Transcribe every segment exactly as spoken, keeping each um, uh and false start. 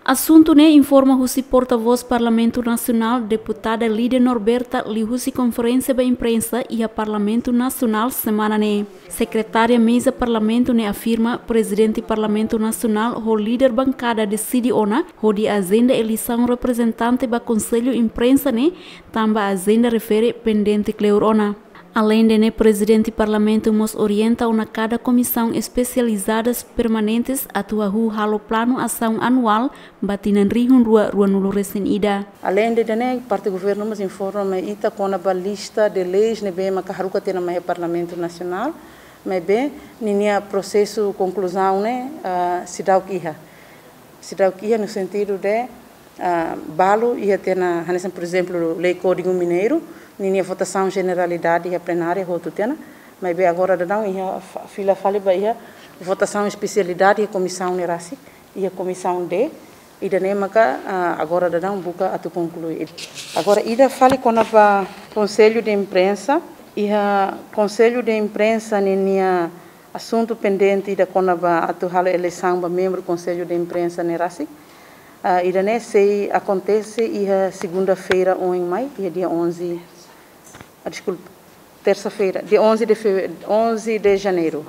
Asuntu ne'e informa husi porta-voz Parlamentu Nasionál, Deputada Lídia Norberta, liuhusi konferénsia ba imprensa iha Parlamentu Nasionál semana ne'e. Sekretária Meza Parlamentu ne'e afirma Prezidente Parlamentu Nasionál ho líder bankada deside ona hodi ajenda eleisaun reprezentante ba Konsellu Imprensa ne'e, tanba ajenda refere pendente kleur ona. Aleinde ne'e, Prezidente Parlamentu mós orienta ona kada komisaun espesializadas permanentes atu hahú halo planu asaun anuál ba tinan rihun rua ruanulu resin ida. Aleinde ida-ne'e, parte governu mós informa mai ita kona-ba lista de leis ne'ebé maka haruka tiha ona mai iha Parlamentu Nasionál, maibé ninia prosesu konkluzaun ne'e, ah, seidauk iha. Seidauk iha no sentidu de, ah, balu iha tiha ona, hanesan, por ezemplu, Lei Kódigu Mineiru, ninia votasaun jeneralidade iha plenária hotu tiha ona, maibé agora daudaun iha fa-, fila fali ba iha votasaun espesialidade iha komisaun ne'e rasik, iha Komisaun D, ida-ne'e maka, ah, agora daudaun buka atu konklui. Agora ida fali kona-ba Konsellu de Imprensa, iha Konsellu de Imprensa ninia asuntu pendente ida kona-ba atu halo eleisaun ba membru Konsellu de Imprensa ne'e rasik. Ah, ida-ne'e sei akontese iha segunda-feira oin mai, iha dia onze, ah, deskulpa, tersa-feira, dia onze de feve-, onze de janeiru.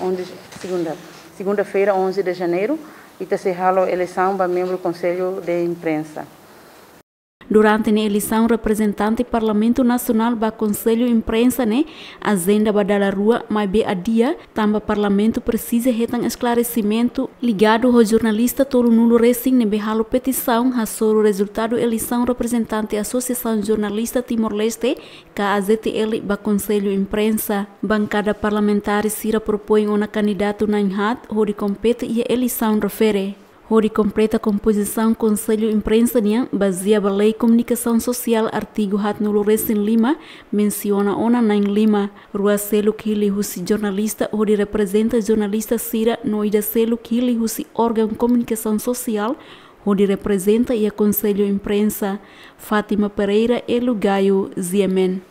Onze, segunda. Segunda-feira, onze de janeiru, ita sei halo eleisaun ba membru Konsellu de Imprensa. Durante ne'e eleisaun reprezentante Parlamentu Nasionál ba Konsellu Imprensa ne'e ajenda ba dala rua, maibé adia, tanba Parlamentu presiza hetan esklaresimentu ligadu ho jornalista tolunulu resin ne'ebé halo petisaun hasoru rezultadu eleisaun reprezentante Asosiasaun Jornalista Timor-Leste, ka A J T L, ba Konsellu Imprensa. Bankada parlamentár sira propoin ona kandidatu na'in haat hodi kompete iha eleisaun refere. Hodi kompleta kompozisaun Konsellu Imprensa nian, bazeia ba Lei Komunikasaun Sosiál, artigu haatnulu resin lima, mensiona ona na'in lima. Rua seluk hili husi jornalista hodi reprezenta jornalista sira no ida seluk hili husi órgaun komunikasaun sosiál hodi reprezenta iha Konsellu Imprensa. Fátima Pereira, Elo Gayo, G M N.